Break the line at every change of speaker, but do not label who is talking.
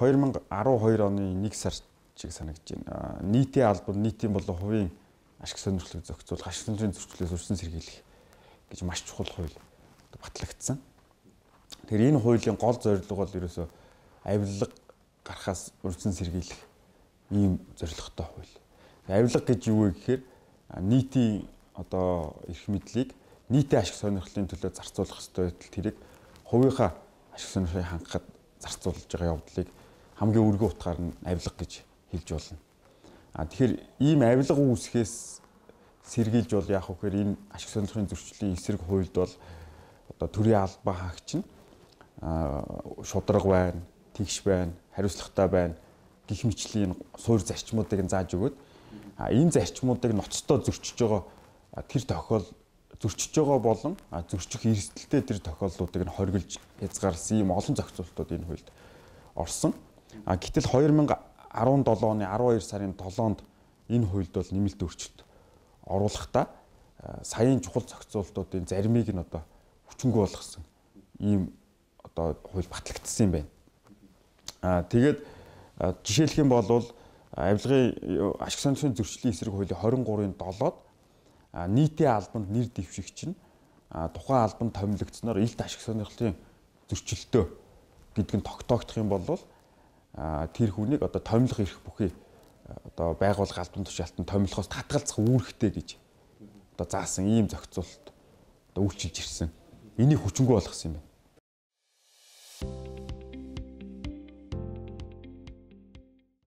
2012 оны 1 сар чиг санагдаж байна. Нийтийн албан нийтийн болон хувийн ашиг сонирхлыг зохицуулах, ашиг сонирхлын зөрчлөөс өрсөн сэргийлэх гэж маш чухал хууль батлагдсан. Тэгэхээр энэ хуулийн гол зорилго бол ерөөсөө авилга гарахаас өрсөн сэргийлэх ийм зорилготой хууль. Авилга гэж юу вэ гэхээр нийтийн одоо эрх мэдлийг нийтийн ашиг сонирхлын төлөө зарцуулах ёстой байтал тэрийг хувийнхаа ашиг сонирхлыг хангахад зарцуулж байгаа явдлыг хамгийн өргөн утгаар нь авилга гэж хэлж болно. Тэгэхээр ийм авилга үүсгэхээс сэргийлж бол яах вэ гэхээр энэ ашиг сонирхлын зөрчлийн эсрэг хуульд бол одоо төрийн албан хаагч нь шударга байна, тэгш байна, хариуцлагатай байна гэх мэтлийн суур зарчмуудыг зааж өгөөд энэ зарчмуудыг ноцтой зөрчиж байгаа тэр зөрчиж байгаа болон зөрчих эрсдэлтэй тэр тохиолдлуудыг нь хоригдж хязгаарласан ийм олон зохицуултууд энэ хуульд орсон. Гэтэл 2017 оны 12 сарын 7-нд энэ хуульд бол нэмэлт өөрчлөлт оруулахдаа саяын чухал зохицуултуудын заримыг нь одоо хүчингүй болгосон ийм одоо хууль батлагдсан юм байна. Тэгээд жишээлх юм бол авилгын ашиг сонирхлын зөрчлийн эсрэг хуулийн 23-ын 7-д нийтийн албанд нэр дэвшигч нь тухайн албанд томилогдсноор илт ашиг сонирхлын зөрчилтөө гэдг нь тогтоогдох юм бол тэр хүнийг одоо томилох эрх бүхий одоо байгууллага албан тушаалтанд томилохоос татгалзах үүрэгтэй гэж одоо заасан ийм зохицуулалт одоо үйлчилж ирсэн. Энийг хүчингүй болгосон юм байна.